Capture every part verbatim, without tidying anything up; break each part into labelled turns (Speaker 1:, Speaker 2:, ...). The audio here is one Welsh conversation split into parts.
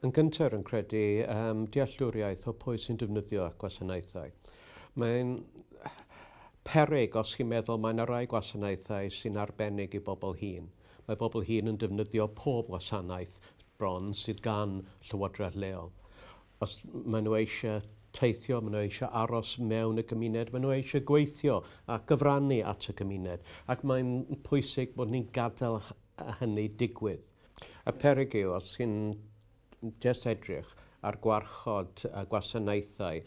Speaker 1: Yn gyntaf, yn credu um, dealltwriaeth o pwy sy'n defnyddio gwasanaethau. Mae'n peryg os chi'n meddwl mae yna rai gwasanaethau sy'n arbennig i bobl hŷn. Mae bobl hŷn yn defnyddio pob gwasanaeth bron sydd gan llywodraeth leol. Os maen nhw eisiau teithio, maen nhw eisiau aros mewn y gymuned, maen nhw eisiau gweithio a gyfrannu at y gymuned. Ac mae'n pwysig bod ni'n gadael hynny digwydd. Y peryg yw, os chi'n just edrych ar gwarchod a gwasanaethau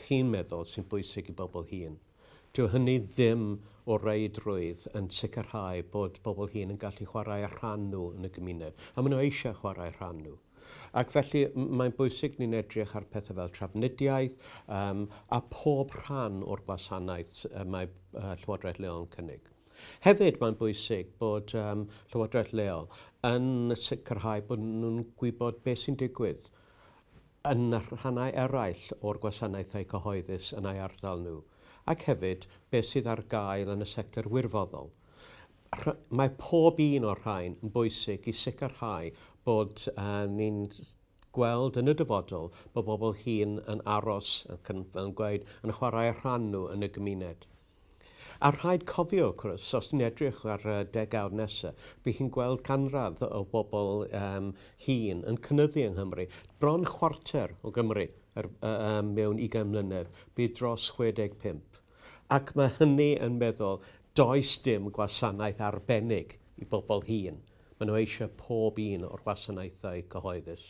Speaker 1: chi'n meddwl sy'n bwysig i bobl hŷn, dyw hynny ddim o reidrwydd yn sicrhau bod bobl hŷn yn gallu chwarae rhan nhw yn y gymuned. A maen nhw eisiau chwarae rhan nhw. Ac felly mae'n bwysig ni'n edrych ar pethau fel trafnidiaeth um, a pob rhan o'r gwasanaeth uh, mae uh, Llywodraeth Leol yn cynnig. Hefyd mae'n bwysig bod um, Llywodraeth Leol yn sicrhau bod nhw'n gwybod beth sy'n digwydd yn y rhannau eraill o'r gwasanaethau cyhoeddus yn eu ardal nhw, ac hefyd beth sydd ar gael yn y sector wirfoddol. Mae pob un o'r rhain yn bwysig i sicrhau bod uh, ni'n gweld yn y dyfodol bod bobl hŷn yn aros, ac yn, fel yn gweud, yn chwarae rhan nhw yn y gymuned. A rhaid cofio, wrth gwrs, os ni'n edrych ar y degawd nesaf, bydd chi'n gweld canradd o bobl um, hŷn yn cynyddu yng Nghymru. Bron chwarter o Gymru er, uh, mewn ugain mlynedd, bydd dros chwe deg pump. Ac mae hynny yn meddwl, does dim gwasanaeth arbennig i bobl hŷn. Maen nhw eisiau pob un o'r gwasanaethau cyhoeddus.